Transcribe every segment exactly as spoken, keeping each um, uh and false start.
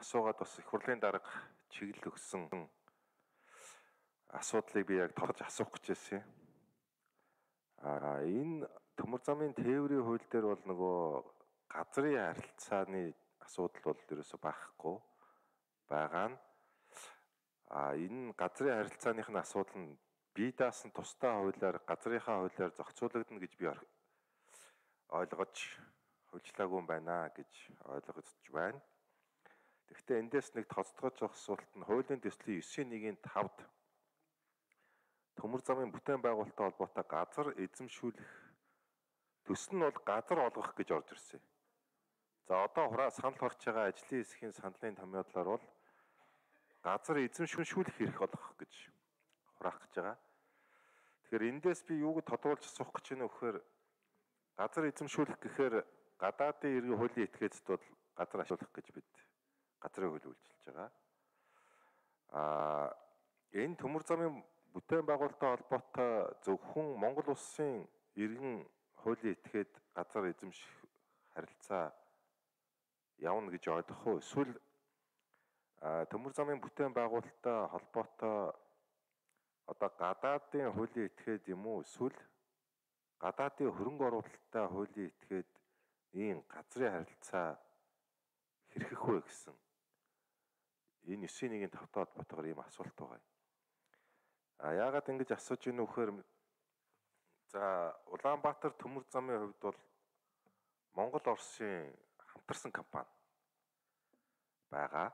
асуугаад бас их хурлын дарга чиглэл өгсөн асуудлыг би яг товч асуух гэж байсан. А энэ төмөр замын тээврийн хууль дээр бол нөгөө газрын харилцааны асуудал бол ерөөсө байхгүй байгаа нь. А энэ газрын харилцааных нь асуудал нь бие даасан тусдаа хуулиар газрынхаа хуулиар зохицуулагдана гэж би ойлгож хөлжлаагүй юм байна гэж ойлгож байна. Тэгэхдээ эндээс нэг тоцтгож авах асуулт нь хуулийн төслийн девять нэг тавд төмөр замын бүтээн байгуулалттай холбоотой газар эзэмшүүлэх төс нь бол газар олгох гэж орж ирсэн. За одоо хураа санал хорч байгаа ажлын хэсгийн саналын томьёолоор бол газар эзэмшүүлэх хэрэг олгох гэж хураах гэж байгаа. Тэгэхээр эндээс би юуг тодруулж асуух гэж байна вэ гэхээр газар эзэмшүүлэх гэхээр гадаадын иргэн хуулийн этгээцэд бол газар ашиглах гэж бид газрын хууль үйлчилж байгаа. Аа энэ төмөр замын бүтээн байгуулалттай холбоотой зөвхөн Монгол улсын иргэн хуулийн этгээд газар эзэмших харилцаа явна гэж ойлгох уу? Эсвэл төмөр замын бүтээн байгуулалттай холбоотой одоо гадаадын хуулийн этгээд юм уу? Эсвэл гадаадын хөрөнгө оруулалттай хуулийн этгээд ийм газрын харилцаа хэрхэх вэ гэсэн энэ девять нэг тавтай холбоотойгоор ийм асуулт байгаа. А яагаад ингэж асууж ийнө вэхээр за Улаанбаатар төмөр замын хувьд бол Монгол Оросын хамтарсан компани байгаа.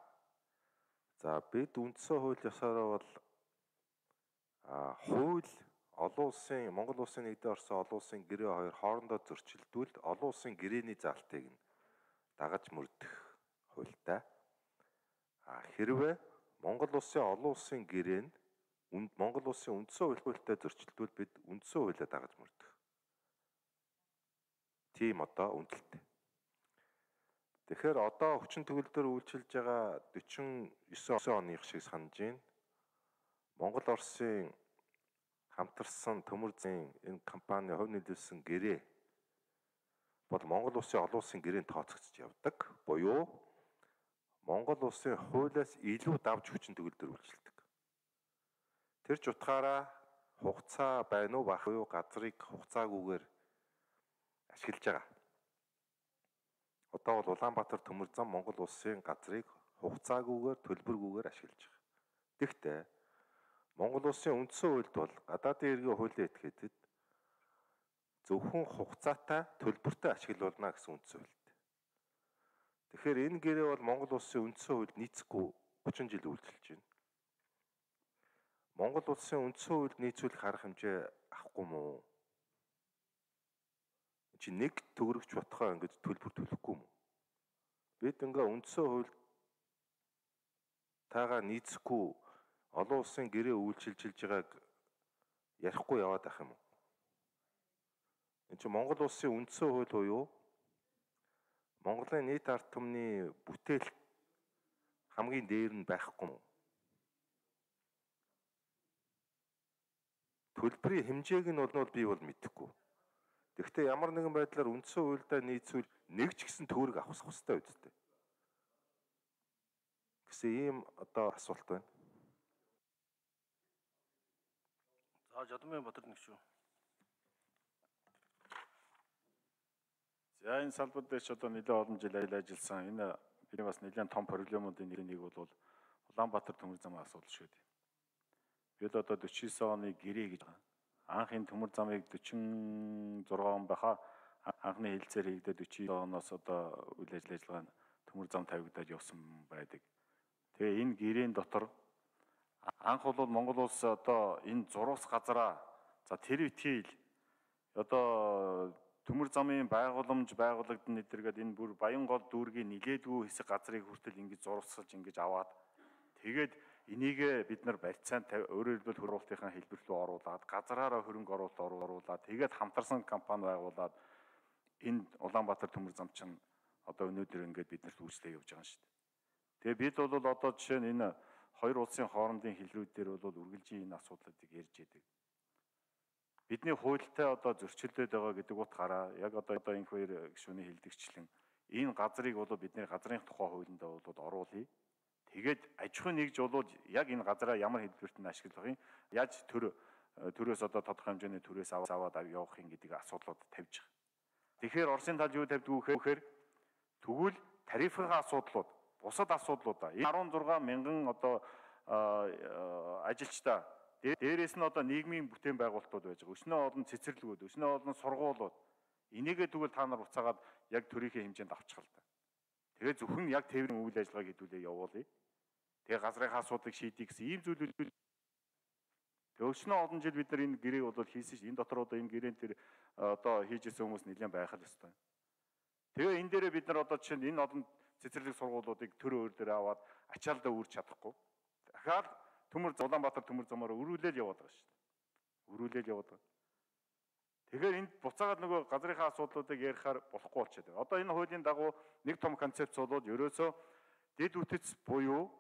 За бид үндсэн хууль ёсоор бол хууль олон улсын Монгол улсын нэгдсэн Оросын олон улсын гэрээ хоёр хоорондоо зөрчилдүүлд олон улсын гэрээний заалтыг нь дагаж мөрдөх хуультай. А хэрвээ Монгол улсын олон улсын гэрээ нь Монгол улсын үндсэн хуультай зөрчилдүүл бид үндсэн хуулиа дагаж мөрдөх. Тийм одоо үндэлтэй. Тэгэхээр одоо хүчин төгөлдөр үйлчилж байгаа дөрвөн девять оных шиг санаж байна. Монгол Оросын хамтарсан төмөр замын энэ компани хувь нөлөөлсөн гэрээ бол Монгол улсын олон улсын гэрээнд тооцогдож явдаг. Буюу Монгол улсын хуулиас илүү давж хүчин төгөлдөр үйлчилдэг. Тэр ч утгаараа хугацаа байна уу бах уу газрыг хугацаагүйгээр ашиглаж байгаа. Одоо бол Улаанбаатар төмөр зам Монгол улсын газрыг хугацаагүйгээр төлбөргүйгээр ашиглаж байгаа. Тэгэхдээ Монгол улсын үндсэн хуульд бол гадаадын иргэн хуулийн этгээдэд зөвхөн хугацаатай төлбөртэй ашиглуулна гэсэн үндсэн хуульд. Тэгэхээр энэ гэрээ бол Монгол улсын үндсэн хуульд нийцэхгүй гучин жил үйлчилж байна. Монгол улсын үндсэн хуульд нийцүүлэх арга хэмжээ авахгүй мүү? Чи нэг төгрөгч бодохоо ингэж төлбөр төлөхгүй мүү? Бид ингээ үндсэн хуульд таага нийцэхгүй олон улсын гэрээ үйлчилж байгааг ярихгүй яваад ах юм уу? Энд чинь Монгол улсын үндсэн хууль буюу Монголын нийт ард түмний бүтээл хамгийн дээр нь байхгүй мó. Төлбөрийн хэмжээг нь бол би бол мэдэхгүй. Тэгэхдээ ямар нэгэн байдлаар үндсэн хуульдаа нийцүүл нэг ч гэсэн төгрөг авах хэрэгтэй үстэй. Гэсэн ийм одоо асуулт байна. За Жадмын Батар нэг шүү. За энэ салбар дээр ч одоо нэлээд олон жил ажилласан. Энэ бидний бас нэлээд том проблемуудын нэг бол Улаанбаатар төмөр замын асуудал шүү дээ. Бид одоо дөрвөн оны гэрээ гэж байгаа. Анхын төмөр замыг дөрвөн зургаан он байхаа анхны хэлцээр хийгдээд дөрвөн оноос одоо үйл ажиллагаа нь төмөр зам тавигдаад явсан байдаг. Тэгээ энэ гэрээний дотор анх бол Монгол улс одоо энэ зурвас газараа за тэр үтгийл одоо төмөр замын байгууламж байгуулагдана гэдэргээд энэ бүр Баянгол дүүргийн нилээдгүй хэсэг газрыг хүртэл ингэж зурвасгаж ингэж аваад тэгээд энийг бид нар барьцаанд өөрөөр хэлбэл хөрвүүлтийн хэлбэр рүү оруулаад газраараа хөрөнгө оруулалт оруулаад тэгээд хамтарсан компани байгуулад энэ Улаанбаатар төмөр зам чинь одоо өнөөдөр ингээд биднэрт үйлчлээ явж байгаа юм шүү дээ. Тэгээ бид бол одоо жишээ нь энэ хоёр улсын хоорондын хэлрүүдээр бол үргэлжийн энэ асуудлуудыг ярьж байдаг. Бидний хуультай одоо зөрчилдөд байгаа гэдэг утгаараа яг одоо одоо энэ хоёр гишүүний хэлдэгчлэн энэ газрыг бол бидний газрын тухай хуулинд бол оруулъя. Тэгээд аж ахуйн нэгж бол яг энэ газараа ямар хэлбэрт нь ашиглах юм, яаж төр төрөөс одоо тодорхой хэмжээний төрөөс аваад явах юм гэдэг асуудлууд тавьж байгаа. Тэгэхээр Оросын тал юу тавьдгүй гэхээр тэгвэл тарифын асуудлууд, бусад асуудлуудаа энэ арван зургаан мянган одоо ажилчдаа дээрээс нь одоо нийгмийн бүтээн байгуулалтууд байж байгаа. Өснөө олон цэцэрлэгүүд, өснөө олон сургуулиуд энийгээ тэгвэл та нар буцаагаад яг төрийнхээ хэмжээнд авчих л да. Тэгээ зөвхөн яг тээврийн үйл ажиллагааг хэдүүлээ явуулъя. Тэгээ газрынхаа асуудлыг шийдье гэсэн ийм зүйлүүд. Тэгээ өснөө олон жил бид нар энэ гэрээг бол хийсэн ш. Энэ дотор одоо энэ гэрээн тэр одоо хийжсэн хүмүүс нэлээд байх л ёстой. Тэгээ энэ дээрээ бид нар одоо жишээ нь энэ олон цэцэрлэг сургуулиудыг төр өөр дээр аваад ачаалдаа үрж чадахгүй. Дахиад Төмөр Улаанбаатар төмөр замаар өрүүлэл яваад байгаа шүү дээ. Өрүүлэл яваад байгаа. Тэгэхээр энд буцаагаад нөгөө газрынхаа асуудлуудыг ярихаар болохгүй болчиход байна. Одоо энэ хуулийн дагуу нэг том концепц болоод ерөөсөө дэд үтэц буюу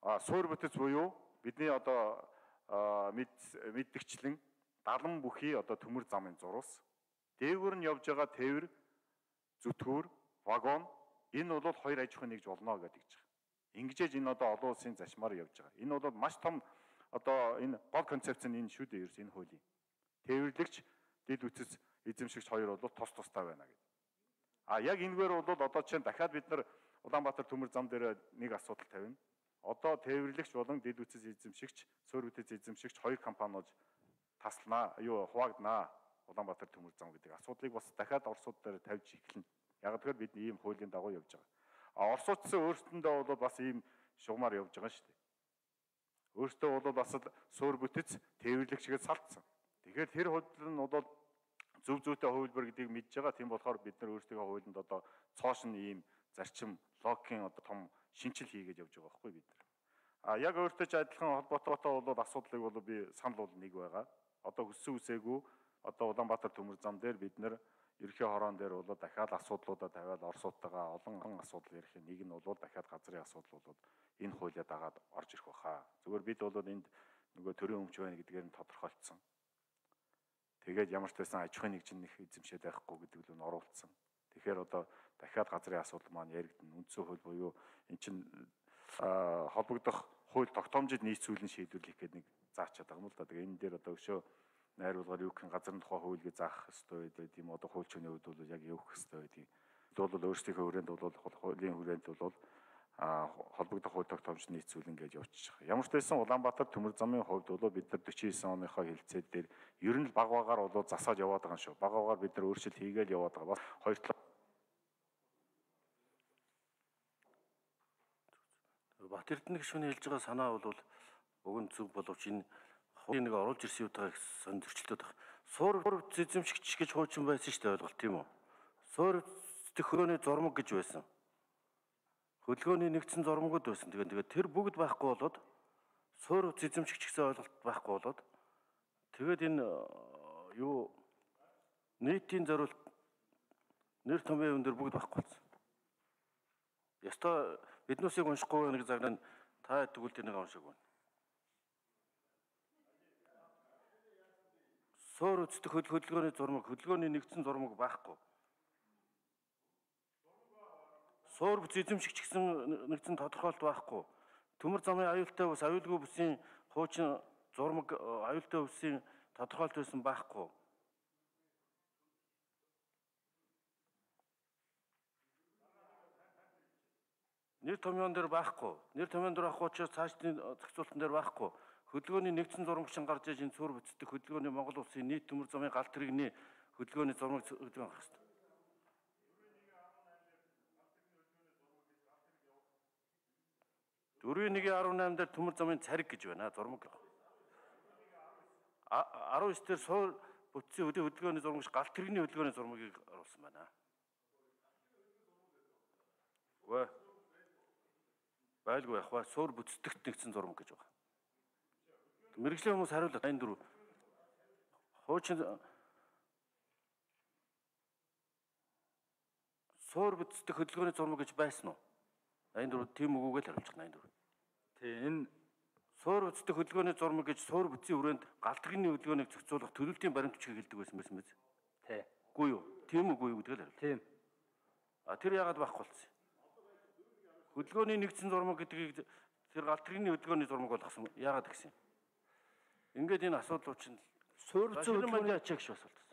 а суур бүтэц буюу бидний одоо мэддэгчлэн далан бүхий одоо төмөр замын зурус, дээгүүр нь явж байгаа тээвэр, зүтгүүр, вагон энэ бол хоёр аж ахуйн нэгж болно гэдэг чинь. Ингэжээж энэ одоо олон улсын зашмаар явж байгаа. Энэ бол маш том одоо энэ гол концепц нь энэ шүү дээ ерөөс энэ хуулийн. Тээвэрлэгч, дэд үтэц эзэмшигч хоёр бол тус тустай байна гэдэг. А яг энэгээр бол одоо чинь дахиад бид нар Улаанбаатар төмөр зам дээр нэг асуудал тавина. Одоо тээвэрлэгч болон дэд үтэц эзэмшигч, суур бүтэц эзэмшигч хоёр компаниуд таслана, юу хуваагдана Улаанбаатар төмөр зам гэдэг асуудлыг бас дахиад Оросууд дээр тавьж эхэлнэ. Яг тэгэхээр бид ийм хуулийн дагуу явж байгаа. А Оросуудсан өөрсдөндөө бол бас ийм шугамар явж байгаа шүү дээ. Өөртөө бол бас суур бүтэц тээвэрлэгчгээд салтсан. Тэгэхээр тэр хууль нь бол зөв зүйтэй хувилбар гэдгийг мэдж байгаа. Тийм болохоор бид нар өөрсдийнхөө хуулинд одоо цоошин ийм зарчим логикийн одоо том шинжил хийгээд явж байгаа байхгүй бид нар. А яг өөртөө ч адилхан холбоотой бол асуудлыг бол би санал бол нэг байгаа. Одоо хүссэн үсээгүй одоо Улаанбаатар төмөр зам дээр бид нар ерхий хороон дээр бол дахиад асуудлуудаа тавиад Оросуудтайгаа олон асуудал ярих. Нэг нь бол дахиад газрын асуудал бол энэ хуулиа дагаад орж ирэх баха. Зүгээр бид бол энд нөгөө төрийн өмч байна гэдгээр нь тодорхойлцсон. Тэгээд ямар ч байсан аж ахуйн нэгжин их эзэмшээд байхгүй гэдэг нь оруулсан. Тэгэхээр одоо дахиад газрын асуудал маань яригдана. Үндсэн хууль буюу эн чинь холбогдох хууль тогтоомжид нийцүүлэн шийдвэрлэх гэдэг нэг заачаад байгаа юм л да. Тэгээ энэ дээр одоо өшөө найруулгаар юу гэх газрын тухай хуулийг заах ёстой байдаг юм. Одоо хуульчны хувьд бол яг явах ёстой байдаг. Бид бол өөрсдийнхөө хүрээнд бол хуулийн хүрээнд бол а холбогдох хууль тогтоомжид нийцүүлэн гэж явуулчих. Ямар ч байсан Улаанбаатар төмөр замын хувьд бол бид нар дөрвөн девять оныхоо хэлэлцээр дээр ер нь л баг багаар бол засаад яваад байгаа юм шүү. Баг багаар бид нар өөрчлөлт хийгээл яваад байгаа. Бас хоёр талаа Бат Эрдэнэ гишүүний хэлж байгаа санаа бол уг нь зөв боловч энэ хуулийн нэг оруулж ирсэн үеийн сонь зөрчилдөд байна. Суур эзэмшигч гэж хуучин байсан шүү дээ, ойлголт тийм үү? Суур эзэмшигч хөрөөний зурмаг гэж байсан. Хөдөлгөөний нэгдсэн зурмагуд байсан. Тэгээд тэгээд тэр бүгд байхгүй болоод суур эзэмшигч гэсэн ойлголт байхгүй болоод тэгээд энэ юу нийтийн зориулт нэр томьёо юм дээр бүгд байхгүй болсон. Ястаа биднүүсийг уншихгүй нэг загнаа та тэгвэл тэр нэг уншиг байна. Суур үздэг хөдөлгөөний зурмаг, хөдөлгөөний нэгдсэн зурмаг байхгүй. Суур бүс эзэмшигч гэсэн нэгдсэн тодорхойлт байхгүй. Төмөр замын аюултай бус, аюулгүй бүсийн хуучин зурмаг, аюултай бүсийн тодорхойлт байсан байхгүй. Нэр томьёон дээр байхгүй. Нэр томьёон дээр авах учраас цаашдын зохицуултан дээр байхгүй. Хөдөлгөөний нэгдсэн зурмаг шин гарч иж энэ суур бүтцдэг хөдөлгөөний Монгол улсын нийт төмөр замын галт тэрэгний хөдөлгөөний зурмаг хөдөлгөөн гарах хэрэгтэй. дөрвөн нэг дөрвөн восемь дээр төмөр замын цариг гэж байна. Зурмаг. арван девять дээр суур бүтцийн хөдөлгөөний зурмагш галт тэрэгний хөдөлгөөний зурмагийг оруулсан байна. Вэ? Байлгүй явах ба суур бүтцдэгт нэгдсэн зурмаг гэж байна. Мэргэжлийн хүмүүс хариулаад энэ дөрөв хуучин суур бүтцдэг хөдөлгөөний зурмаг гэж байсан уу? Энэ дөрөв тийм үгүйгээр хариулж байна энэ дөрөв. Тий энэ суур бүтцдэг хөдөлгөөний зурмаг гэж суур бүтцийн хүрээнд галт тэрэгний хөдөлгөөнийг зохицуулах төлөвлөлтийн баримт бичгийг хэлдэг байсан байсан биз? тий. Үгүй юу? Тийм үгүй юу гэдгээр хариул. Тийм. А тэр яагаад байхгүй болсон юм? Хөдөлгөөний нэгдсэн зурмаг гэдгийг тэр галтрын хөдөлгөөний зурмаг болгосон яагаад гэсэн юм? Ингээд энэ асуудлууд чинь суурилсан хөдөлгөөний хөдөлгөөний ачаагш бас болдог.